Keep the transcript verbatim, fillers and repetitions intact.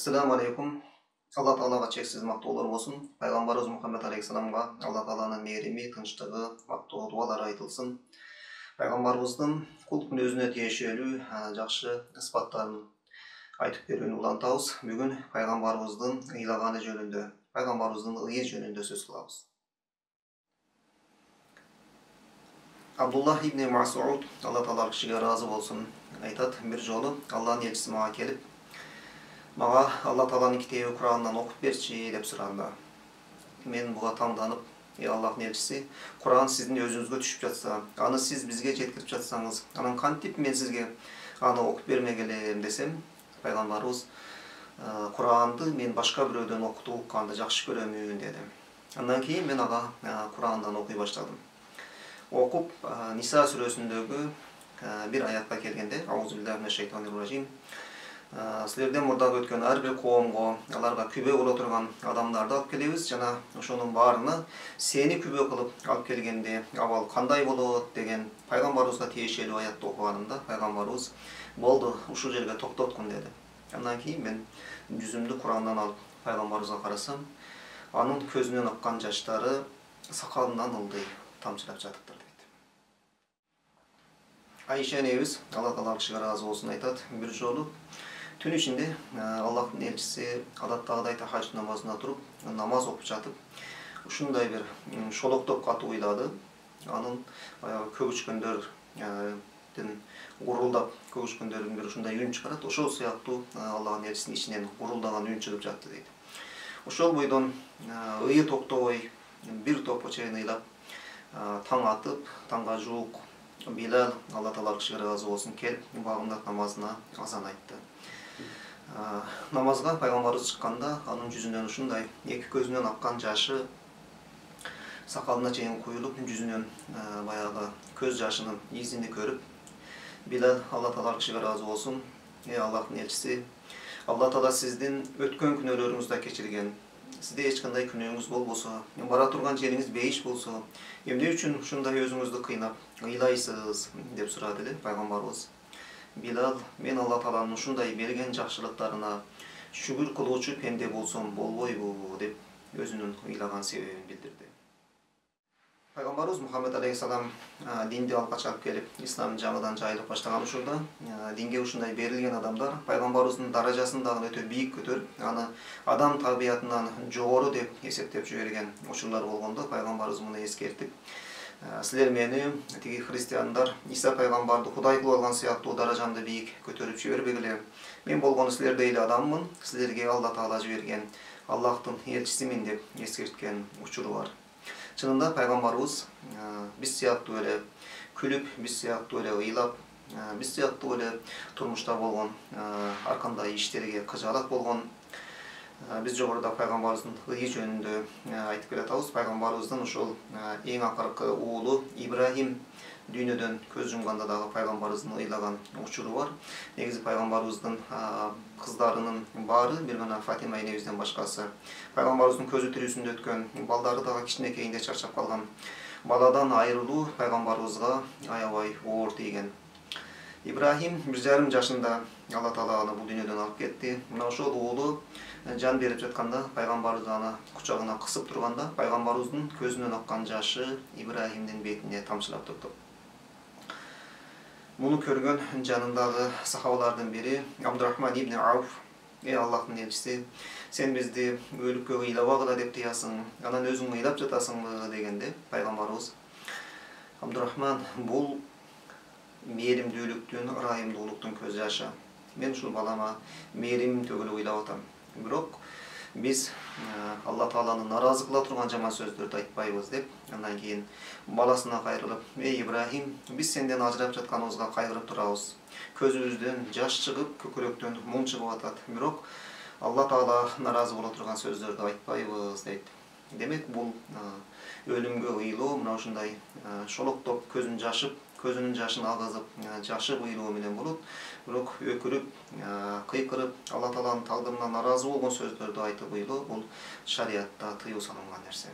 Assalamu alaikum. Allah Taalaga cheksiz mактоолор болсун. Пайгамбарыбыз Мухаммед алейхиссаламга Алла Тааланын мээрими, тынчтыгы, мактоо дуалары айтылсын. Пайгамбарыбыздын кул өзүнө тиешелүү жакшы ысбаттарын айтып берүүнү улантабыз. Бүгүн пайгамбарыбыздын ыйлаганы жөнүндө, пайгамбарыбыздын ые жөнүндө сөз кылабыз. Абдуллах ибн Мас'уд, Алла Таала кишиге ыраазы болсун, айтат: бир жолу Алланын элчиси мага келип, мага Алла Тааланын китеби Курандан окуп берчи деп сураганда, мен буга таңданып, "Ey Аллахтын элчиси, Куран сиздин өзүңүзгө түшүп жатса, аны сиз бизге жеткирип жатсаңыз, анан кантип мен сизге аны окуп бермек элем?" десем, пайгамбарыбыз Куранды мен башка бирөөдөн окутуп укканды жакшы көрөмүн деди. Андан кийин мен ага Курандан окуй баштадым. Окуп Ниса сүрөсүндөгү бир аятка келгенде, аузубиллахи минаш шайтанир ражим, силерден мурдагы өткөн ар бир коомго, аларга күбө боло турган адамдарды алып келебиз жана ошонун баарына сени күбө кылып алып келгенде абал кандай болот деген пайгамбарыбызга тиешелүү аятты окуганымда пайгамбарыбыз болду, ушул жерге токтоткун деди. Андан кийин мен жүзүмдү Курандан алып пайгамбарыбызга карасам, анын көзүнөн аккан жаштары сакалынан ылдый тамчылап жатыптыр дейт. Айша энебиз, Алла Таала кишиге ыраазы болсун, айтат: бир жолу түн ичинде Аллахтын элчиси адаттагыдай тахажжуд намазына туруп, намаз окуп жатып, ушундай бир шолоктоп катуу уйлады. Анын баягы көгүчкөндөрдүн гурулдап, көгүчкөндөрдүн бир ушундай үн чыгарат. Ошол сыяктуу Аллахтын элчисинин ичинен гурулдаган үн чыгып жатты дейт. Ошол бойдон ые токтобой бир топко чейин ыйлап, таң атып, таңга жуук Билал, Алла Таала кишиге ыраазы болсун, келип багымдат намазына азан айтты. Намазга пайгамбарыбыз чыкканда, анын жүзүнөн ушундай эки көзүнөн аккан жашы сакалына чейин куюлуп, жүзүнөн баягы көз жашынын изини көрүп, Билал Алла Таала кишиге ыраазы болсун: "Эй Аллахтын элчиси, Алла Таала сиздин өткөн күнөөлөрүңүздү да кечирген. Сизде эч кандай күнөөңүз болбосо, бара турган жериңиз бейиш болсо, эмне үчүн ушундай өзүңүздү кыйнап ыйлайсыз?" деп сурады эле пайгамбарыбыз. Билал: "Мен Алла Тааланын ушундай берген жакшылыктарына шүгүр кылуучу пенде болсом болбойбу?" деп өзүнүн ыйлаган себебин билдирди. Пайгамбарыбыз Мухаммед алейхиссалам динди алгач алып келип, ислам жаңыдан жайылып баштаган учурда, динге ушундай берилген адамдар пайгамбарыбыздын даражасын дагы өтө бийик көтөрүп, аны адам табиятынан жогору деп эсептеп жиберген учурлар болгондо, пайгамбарыбыз муну эскертип, "Силер мени тиги христиандар Иса пайгамбарды Кудай кылып алган сыяктуу даражамды бийик көтөрүп жибербегиле. Мен болгону силердей эле адаммын, силерге Алла Таала жиберген Аллахтын элчисимин" деп эскерткен учуру бар. Чынында пайгамбарыбыз биз сыяктуу эле күлүп, биз сыяктуу эле ыйлап, биз сыяктуу эле турмушта болгон ар кандай иштерге кыжаалат болгон. Биз жогоруда пайгамбарыбыздын ые жөнүндө айтып келатабыз. Пайгамбарыбыздын ошол эң акыркы уулу Ибрахим дүйнөдөн көз жумганда дагы пайгамбарыбыздын ыйлаган учуру бар. Негизи пайгамбарыбыздын кыздарынын баары, бир гана Фатима энебизден башкасы, пайгамбарыбыздын көзү тирүүсүндө өткөн балдары дагы кичинекейинде чарчап калган. Баладан айрылуу пайгамбарыбызга аябай оор тийген. Ибрахим бир жарым жашында Алла Таала аны бул дүйнөдөн алып кетти. Мына ошол уулу жан берип жатканда, пайгамбарыбыз аны кучагына кысып турганда, пайгамбарыбыздын көзүнөн аккан жашы Ибрахимдин бетине тамчылап турду. Муну көргөн жанындагы сахабалардын бири Абдурахман ибн Ауф: "Эй Аллахтын элчиси, сен бизди өлүккө ыйлабагыла деп тыясың, анан өзүң ыйлап жатасыңбы?" дегенде, пайгамбарыбыз: "Абдурахман, бул мээримдүүлүктүн, ырайымдуулуктун көз жашы. Мен ушул балама мээрим төгүлүп ыйлап атам. Бирок биз Алла Тааланы наразы кыла турган жаман сөздөрдү айтпайбыз" деп, андан кийин баласына кайрылып: "Эй Ибрахим, биз сенден ажырап жатканыбызга кайгырып турабыз. Көзүбүздөн жаш чыгып, көкүрөктөн муң чыгып атат. Бирок Алла Таала наразы боло турган сөздөрдү айтпайбыз" дейт. Демек, бул өлүмгө ыйлоо мына ушундай шолоктоп көзүн жашып, көзүнүн жашын агызып, жашып ыйлоо менен болот. Бирок өкүрүп, кыйкырып, Алла Тааланын тагдырына наразы болгон сөздөрдү айтып ыйлоо, бул шариатта тыюу салынган нерсе.